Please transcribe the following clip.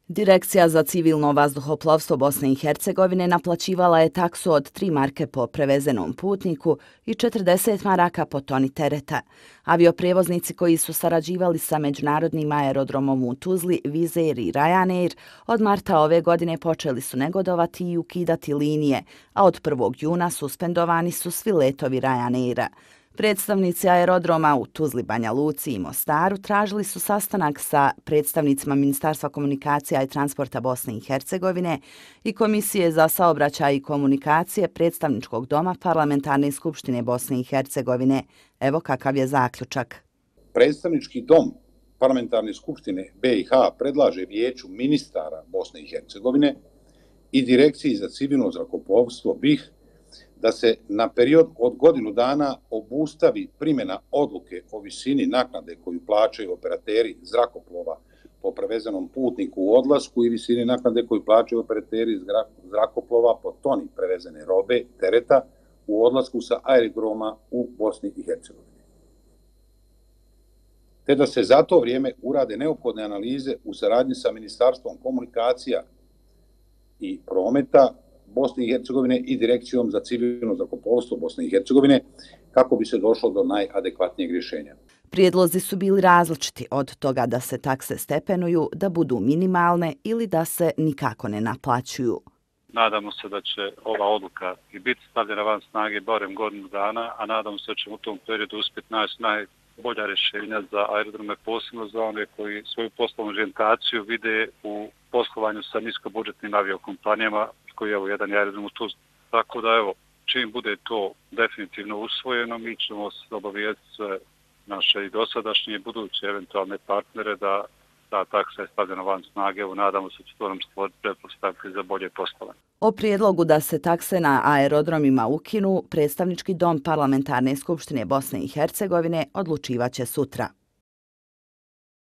Direkcija za civilno vazduhoplovstvo Bosne i Hercegovine naplaćivala je taksu od 3 marke po prevezenom putniku i 40 maraka po toni tereta. Avioprijevoznici koji su sarađivali sa međunarodnim aerodromom u Tuzli, Wizz Air i Ryanair od marta ove godine počeli su negodovati i ukidati linije, a od 1. juna suspendovani su svi letovi Ryanaira. Predstavnici aerodroma u Tuzli, Banja Luci i Mostaru tražili su sastanak sa predstavnicima Ministarstva komunikacija i transporta Bosne i Hercegovine i Komisije za saobraćaj i komunikacije Predstavničkog doma Parlamentarne skupštine Bosne i Hercegovine. Evo kakav je zaključak. Predstavnički dom Parlamentarne skupštine BiH predlaže Vijeću ministara Bosne i Hercegovine i Direkciji za civilno zrakoplovstvo BiH da se na period od godinu dana obustavi primjena odluke o visini naknade koju plaćaju operateri zrakoplova po prevezenom putniku u odlasku i visini naknade koju plaćaju operateri zrakoplova po toni prevezene robe, tereta u odlasku sa aerodroma u Bosni i Hercegovini. Te da se za to vrijeme urade neophodne analize u saradnji sa Ministarstvom komunikacija i prometa Bosne i Hercegovine i Direkcijom za civilno zrakoplovstvo Bosne i Hercegovine kako bi se došlo do najadekvatnijeg rješenja. Prijedlozi su bili različiti, od toga da se takse stepenuju, da budu minimalne ili da se nikako ne naplaćuju. Nadamo se da će ova odluka i biti stavljena van snage barem godinu dana, a nadamo se da ćemo u tom periodu uspjeti naći najbolja rješenja za aerodrome, posebno za one koji svoju poslovnu orijentaciju vide u poslovanju sa niskobudžetnim aviokompanijama, koji je jedan aerodrom u Tuzli. Tako da evo, čim bude to definitivno usvojeno, mi ćemo se obavijestiti sve naše i dosadašnje i buduće eventualne partnere da ta taksa je stavljena van snage. Evo, nadamo se da će to nam stvoriti pretpostavke za bolje poslovanje. O prijedlogu da se takse na aerodromima ukinu, Predstavnički dom Parlamentarne skupštine Bosne i Hercegovine odlučivaće sutra.